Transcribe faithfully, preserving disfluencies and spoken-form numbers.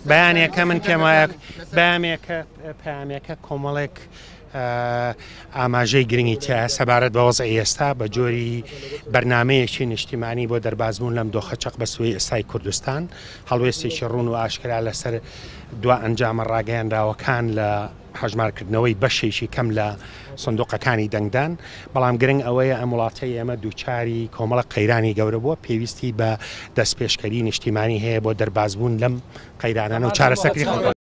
بەیانێکە من پێم وایە بەیانێکە پەیامێکە کۆمەڵێک ئاماژەی گرنگی تایە سەبارەت بە وەزعی ئێستا بە جۆری بەرنمەیەکی نیشتیمانی بۆ دەربازبوون لەم دۆخە چەق بەسوی ئێستای کوردستان، هەڵوێستێکی ڕوون و ئاشکرا لەسەر دوا ئەنجامە ڕاگەیاندراوەکان لە هەژمارکردنەوەی بەشێکی کەم لە سندوقەکانی دەنگدان. بەڵام گرنگ ئەوەیە ئەم وڵاتەی ئێمە دووچاری کۆمەڵە قەیرانی گەورە بووە، پێویستی بە دەستپێشکەری نیشتیمانی هەیە بۆ دەربازبوون لەم قەیرانانە و چارەسەرکردنی خەڵک.